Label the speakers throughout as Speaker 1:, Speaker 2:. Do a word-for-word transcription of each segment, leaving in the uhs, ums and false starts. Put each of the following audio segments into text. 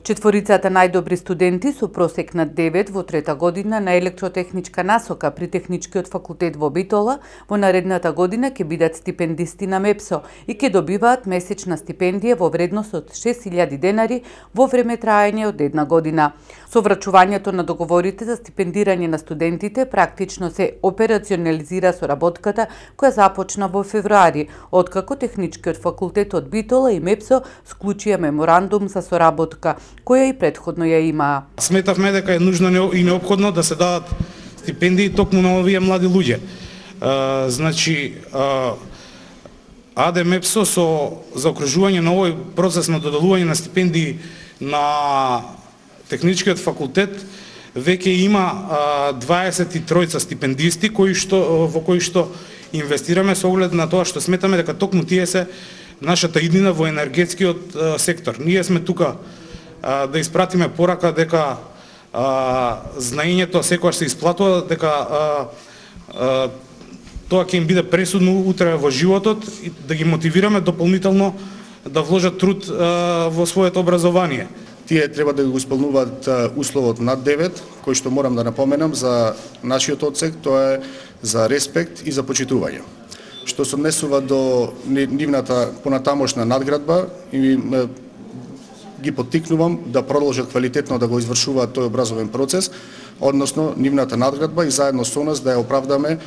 Speaker 1: Четворицата најдобри студенти со просек на девет во трета година на електротехничка насока при Техничкиот факултет во Битола во наредната година ќе бидат стипендисти на МЕПСО и ќе добиваат месечна стипендија во вредност од шест илјади денари во време траење од една година. Со врачувањето на договорите за стипендирање на студентите практично се операционализира соработката која започна во февруари, откако Техничкиот факултет од Битола и МЕПСО склучија меморандум за соработка, која и предходно ја имаа.
Speaker 2: Сметавме дека е нужно и неопходно да се дадат стипендии токму на овие млади луѓе. А, значи, а, АД МЕПСО со заокружување на овој процес на доделување на стипендии на Техничкиот факултет веќе има а, дваесет и тројца стипендисти кои што во кои што инвестираме со оглед на тоа што сметаме дека токму тие се нашата иднина во енергетскиот а, сектор. Ние сме тука а, да испратиме порака дека а, знаењето секогаш се исплатува, дека а, а, тоа ќе им биде пресудно утре во животот и да ги мотивираме дополнително да вложат труд а, во своето образование.
Speaker 3: Тие треба да го исполнуваат условот над девет, кој што морам да напоменам за нашиот одсек, тоа е за респект и за почитување. Што се однесува до нивната понатамошна надградба и ги поттикнувам да продолжат квалитетно да го извршуваат тој образовен процес, односно нивната надградба и заедно со нас да ја оправдаме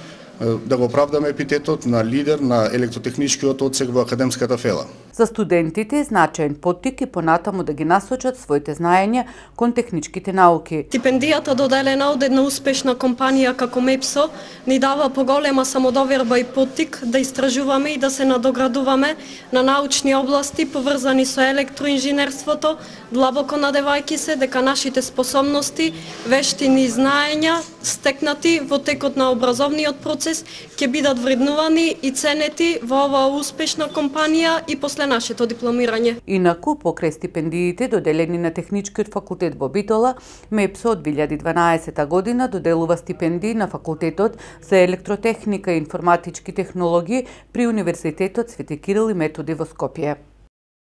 Speaker 3: да го оправдаме епитетот на лидер на електротехничкиот одсек во академската фела.
Speaker 1: За студентите е значаен поттик и понатаму да ги насочат своите знаења кон техничките науки.
Speaker 4: Стипендијата доделена од една успешна компанија како МЕПСО ни дава поголема самодоверба и поттик да истражуваме и да се надоградуваме на научни области поврзани со електроинженерството, длабоко надевајќи се дека нашите способности, вештини и знаења стекнати во текот на образовниот процес ќе бидат вреднувани и ценети во оваа успешна компанија и после нашето дипломирање.
Speaker 1: Инаку, покрај стипендиите доделени на Техничкиот факултет во Битола, МЕПСО од две илјади и дванаесета година доделува стипендии на факултетот за електротехника и информатички технологии при Универзитетот Свети Кирил и Методи во Скопје.